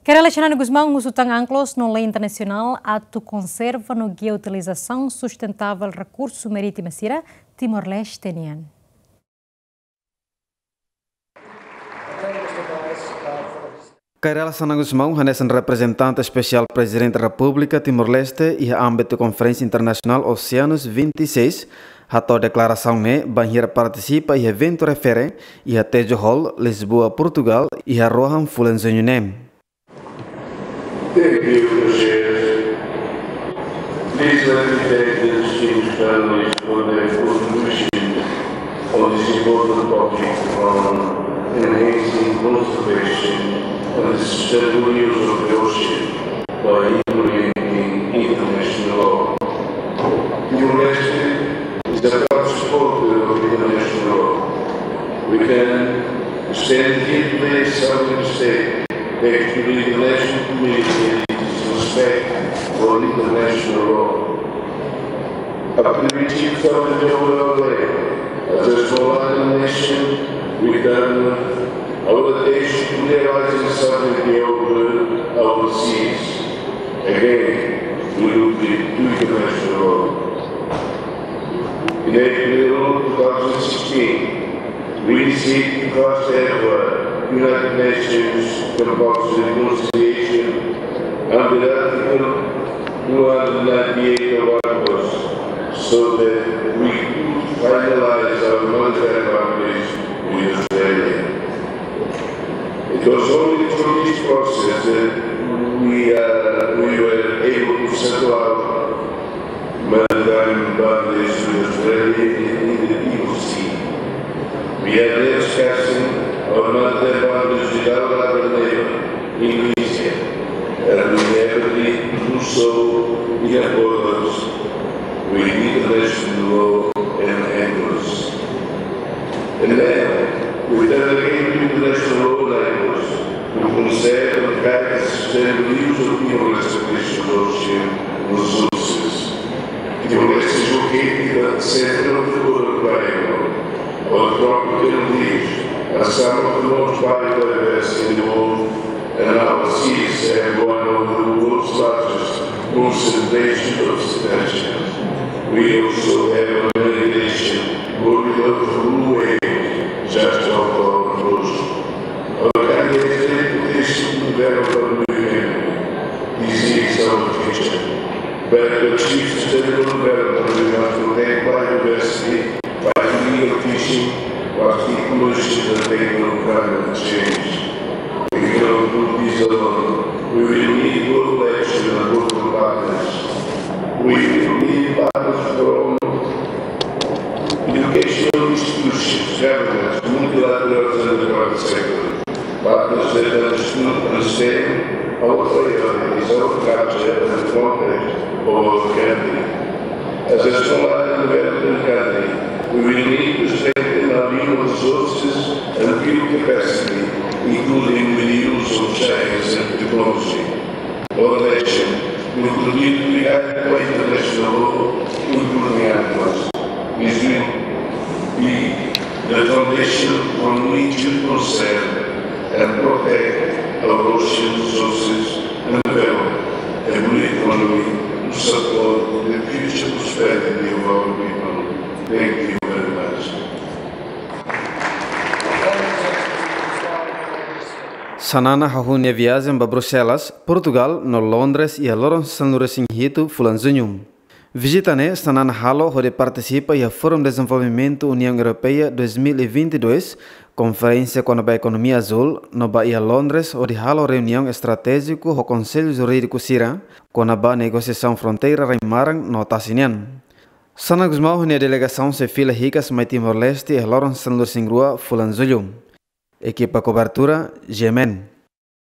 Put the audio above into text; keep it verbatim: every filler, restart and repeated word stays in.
Kay Rala Xanana Gusmão husu tan anklos no lei internasionál atu konserva no guia utilizasaun sustentável rekursu marítima sira Timor-Leste nian. Kay Rala Xanana Gusmão, hanesan reprezentante espesiál Prezidente Repúblika Timor-Leste iha ámbitu Konferénsia Internasionál Oceanus vinte e seis, hato'o deklarasaun ne'e bainhira partisipa iha eventu refere iha Tejo Hall, Lisboa, Portugal, iha rohan fulan Juñu ne'e. Thank you, Chair. Please let me thank the distinguished panelists for their contribution on this important topic on enhancing conservation and the sustainable use of the ocean by implementing international law. Timor-Leste is a proud supporter of international law. We can stand here today as sovereign state, thanks to the international community and its respect for international law. After reaching sovereignty over our land, as a small island nation, we turn our attention to realizing sovereignty over our seas. Again, we look to international law. In April two thousand sixteen, we initiated the first ever United Nations Compulsory Reconciliation under Article two hundred ninety-eight of UNCLOS, so that we could finalize our monetary boundaries with Australia. It was only through this process that we, uh, we were able to settle our maritime boundaries with Australia in, in the Timor Sea. We are now discussing our maritime boundaries with our other neighbor, Indonesia, and we have agreed to do so in accordance with international law and UNCLOS. And then, we turn again to international law and UNCLOS to conserve and guide the sustainable use of Timor-Leste's precious ocean resources. Timor-Leste is located at the center of the Coral Triangle. Our tropical reefs are some of the most biodiverse in the world, and our seas have one of the world's largest concentrations of cetaceans. We also have a migration corridor for blue whales just off our coast. Our country has great potential to develop a new economy. This is our future. But to achieve sustainable development, we must protect biodiversity, fight illegal fishing, plastic pollution, and tackle climate change. We cannot do this alone. We will need global action and global partners. We will need partners from educational institutions, governments, multilaterals, and the private sector. Partners that understood, understand our priorities, our culture, and the context of our country. As a small island developing country, we will need to strengthen our human resources and build capacity, including with the use of science and technology. Our action will continue to be guided by international law, including UNCLOS. This will be the foundation from which we conserve and protect our ocean resources and develop a blue economy to support the future prosperity of our people. Thank you very much. Xanana hahú nia viajen ba Bruxelas, Portugal, no Londres iha loron sanulu-resin-hitu fulan Juñu. Vizita ne'e Xanana halo hodi partisipa iha Fórum Dezenvolvimentu Uniaun Europeia dois mil e vinte e dois, konferénsia kona-ba ekonomia azúl, no ba iha Londres hodi halo reuniaun estratéjiku ho konsellu jurídiku sira kona-ba negosiasaun fronteira rai-maran no tasi nian. Xanana Gusmão ho nia delegasaun sei fila hikas mai Timor-Leste iha loron sanulu-resin-rua fulan Jullu. Ekipa kobertura, G M N.